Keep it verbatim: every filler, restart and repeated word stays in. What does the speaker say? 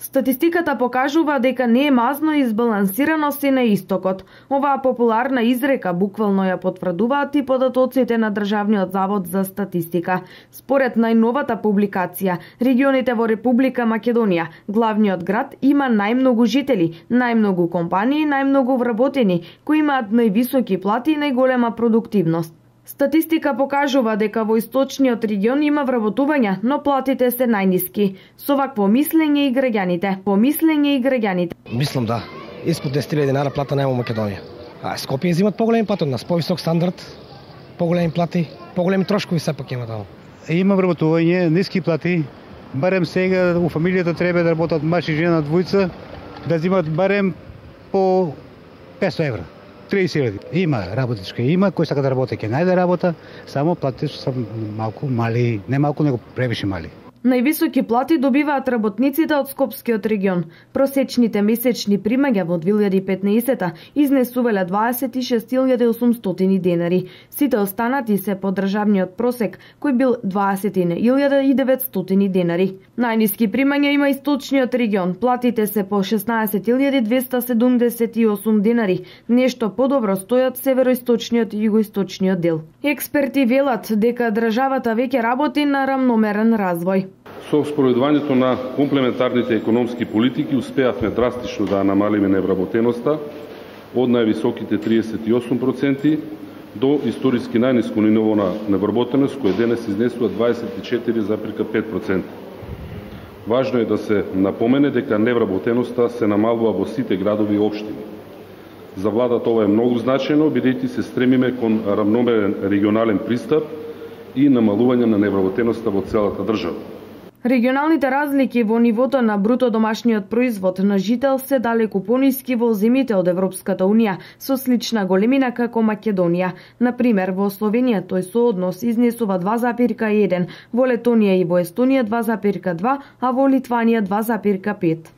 Статистиката покажува дека не е мазно и избалансирано се на истокот. Оваа популарна изрека буквално ја потврдуваат и податоците на Државниот завод за статистика. Според најновата публикација, регионите во Република Македонија, главниот град има најмногу жители, најмногу компании, најмногу вработени, кои имаат највисоки плати и најголема продуктивност. Статистика покажува дека во источниот регион има вработување, но платите се најниски. Со вакво мислење и граѓаните. По мислење и граѓаните. Мислам да. Испод десет илјади динара плата нема во Македонија. А Скопје земат поголеми плати од нас, повисок стандард, поголеми плати, поголеми трошкови сепак има таму. Има вработување, ниски плати. Барем сега у фамилијата треба да работат маж и жена двојца, да земат барем по петстотини евра. триесет илјади. Има работичка, има кој сака да работи, ќе најде работа, само платите се малку мали, не малку него превише мали. Највисоки плати добиваат работниците од Скопскиот регион. Просечните месечни примања во две илјади и петнаесета изнесувале дваесет и шест илјади и осумстотини денари. Сите останати се по државниот просек, кој бил дваесет илјади и деветстотини денари. Најниски примања има источниот регион. Платите се по шеснаесет илјади двесте седумдесет и осум денари. Нешто подобро стојат североисточниот и југоисточниот дел. Експерти велат дека државата веќе работи на рамномерен развој. Со спроведувањето на комплементарните економски политики успеавме драстично да намалиме невработеноста од највисоките триесет и осум проценти до историски најниско ниво на невработеност, кој денес изнесува дваесет и четири зарез пет проценти. Важно е да се напомене дека невработеноста се намалува во сите градови и општини. За владата ова е многу значајно, бидејќи се стремиме кон рамномерен регионален пристап и намалување на невработеноста во целата држава. Регионалните разлики во нивото на бруто домашниот производ на жител се далеку пониски во земјите од Европската унија со слична големина како Македонија. Например, во Словенија тој сооднос изнесува два зарез еден, во Летонија и во Естонија два зарез два, а во Литванија два зарез пет.